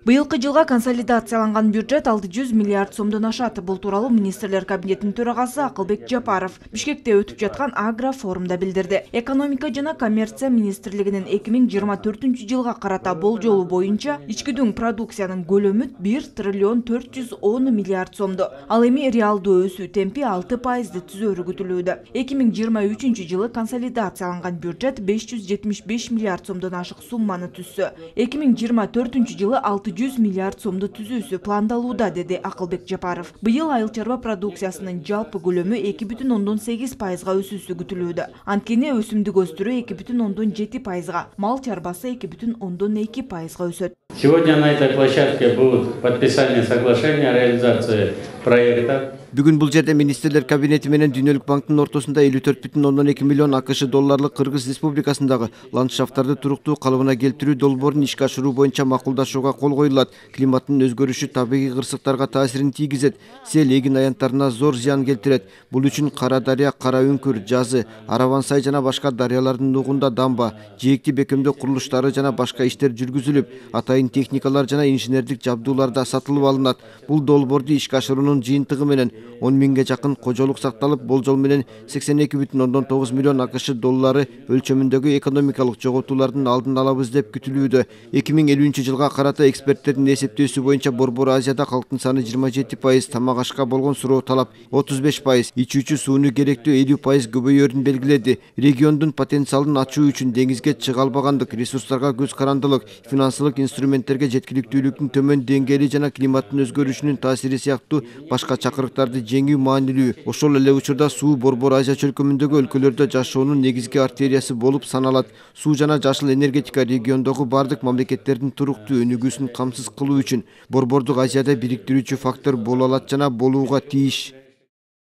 Быйылкы жылга консолидацияланган бюджет 600 миллиард сомдон ашат. Бул тууралуу министрлер кабинетинин төрагасы Акылбек Жапаров Бишкекте өтүп жаткан агро форумда билдирди. Экономика жана коммерция министрлигинин 2024 жылга карата болжолу боюнча ички продукциянын көлөмү 1 триллион 410 миллиард сомду. Ал эми реалдуу өсүү темпи 6% түзөрү күтүлүүдө. 2023 жылы консолидацияланган бюджет 575 миллиард сомдон ашык сумманы түзсө, 2024 жылы 600 миллиард сомду түзүүсү пландалууда, деди Акылбек Жапаров. Быйыл айыл чарба продукциясынын жалпы көлөмү 2,8%га өсүүсү күтүлүүдө. Анткени өсүмдүк өстүрүү 2,7%га, мал чарбасы 2,2%га өсөт. Сегодня на этой площадке будут подписание соглашения о реализации проекта. Бүгүн бул жерде министрлер кабинети менен Дүйнөлүк банктын ортосунда 54,2 миллион АКШ долларлык Кыргыз Республикасындагы ландшафттарды туруктуу калыбына келтирүү долбоорун ишке ашыруу боюнча макулдашууга кол коюлат. Климаттын өзгөрүшү табигый кырсыктарга таасирин тийгизет, сел эгин аянттарына зор зыян келтирет. Бул үчүн Кара Дарыя, Кара Үңкүр, Жазы, Араван Сай жана башка дарыялардын нугунда дамба, жээкти бекемдөө курулуштары жана башка иштер жүргүзүлүп, атайын техникалар жана инженердик жабдуулар да сатылып алынат. Бул долбоорду ишке ашыруунун жыйынтыгы менен 10 миңге жакын кожолук сакталып, болжол менен 82,9 миллион АКШ доллары өлчөмүндөгү экономикалык жоготуулардын алдын алабыз деп күтүлүүдө. 2050 жылга карата эксперттердин эсептөөсү боюнча Борбор Азияда калктын саны 27%, тамак ашка болгон суроо талап 35%, ичүүчү сууну керектөө 50% көбөйөрүн белгиледи. Региондун потенциалын ачуу үчүн деңизге чыга албагандык, ресурстарга көз карандылык, финансылык инструменттерге жеткиликтүүлүктүн төмөн деңгээли жана климаттын өзгөрүшүнүн таасири сыяктуу башка чакырыктарды жеңүү маанилүү. Ошол эле учурда суу Борбор Азия чөлкөмүндөгү өлкөлөрдө жашоонун негизги артериясы болуп саналат. Суу жана жашыл энергетика региондогу бардык мамлекеттердин туруктуу өнүгүүсүн камсыз кылуу үчүн Борбордук Азияда бириктирүүчү фактор боло алат жана болууга тийиш.